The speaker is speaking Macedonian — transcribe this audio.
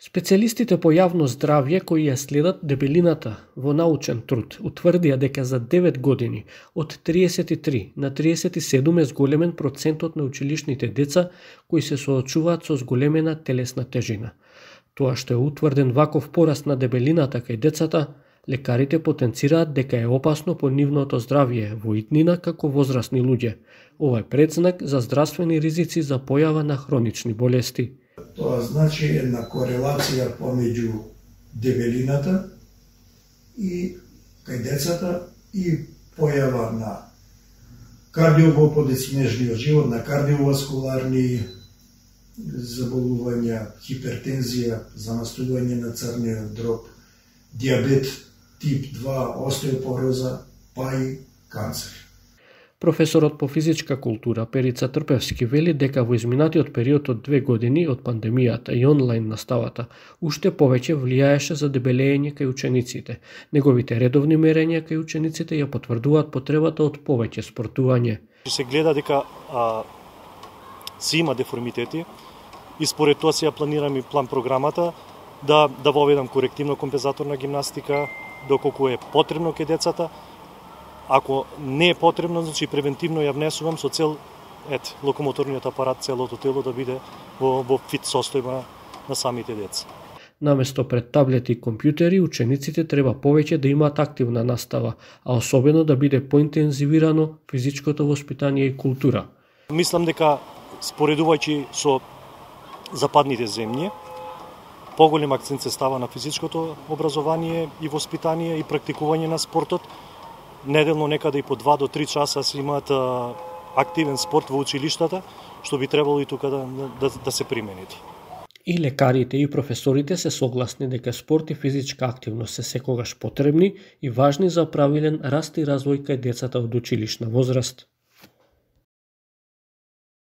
Специјалистите по јавно здравје кои ја следат дебелината во научен труд утврдија дека за 9 години од 33 на 37 е зголемен процентот на училишните деца кои се соочуваат со зголемена телесна тежина. Тоа што е утврден ваков пораст на дебелината кај децата, лекарите потенцираат дека е опасно по нивното здравје во иднина како возрасни луѓе. Ова е предзнак за здравствени ризици за појава на хронични болести. Тоа значи една корелација помеѓу дебелината и кај децата и појава на кардиоголподи снежниот живот, на кардиоваскуларни заболувања, хипертензија, замастување на црниот дроб, дијабет тип 2, остеопороза, па и канцер. Професорот по физичка култура Перица Трпевски вели дека во изминатиот период од 2 години од пандемијата и онлайн наставата уште повеќе влијаеше за дебелење кај учениците. Неговите редовни мерења кај учениците ја потврдуваат потребата од повеќе спортување. Се гледа дека си има деформитети и според тоа се ја планирам и план програмата да воведам корективно компензаторна гимнастика доколку е потребно кај децата. Ако не е потребно, значи превентивно ја внесувам со цел локомоторниот апарат, целото тело да биде во фит состојба на самите деца. Наместо пред таблети и компјутери, учениците треба повеќе да имаат активна настава, а особено да биде поинтензивирано физичкото воспитание и култура. Мислам дека споредувајќи со западните земји, поголем акцент се става на физичкото образование и воспитание и практикување на спортот. Неделно некаде и по 2 до 3 часа се имаат активен спорт во училиштата, што би требало и тука да се примени. И лекарите и професорите се согласни дека спорт и физичка активност се секогаш потребни и важни за правилен раст и развој кај децата од училишна возраст.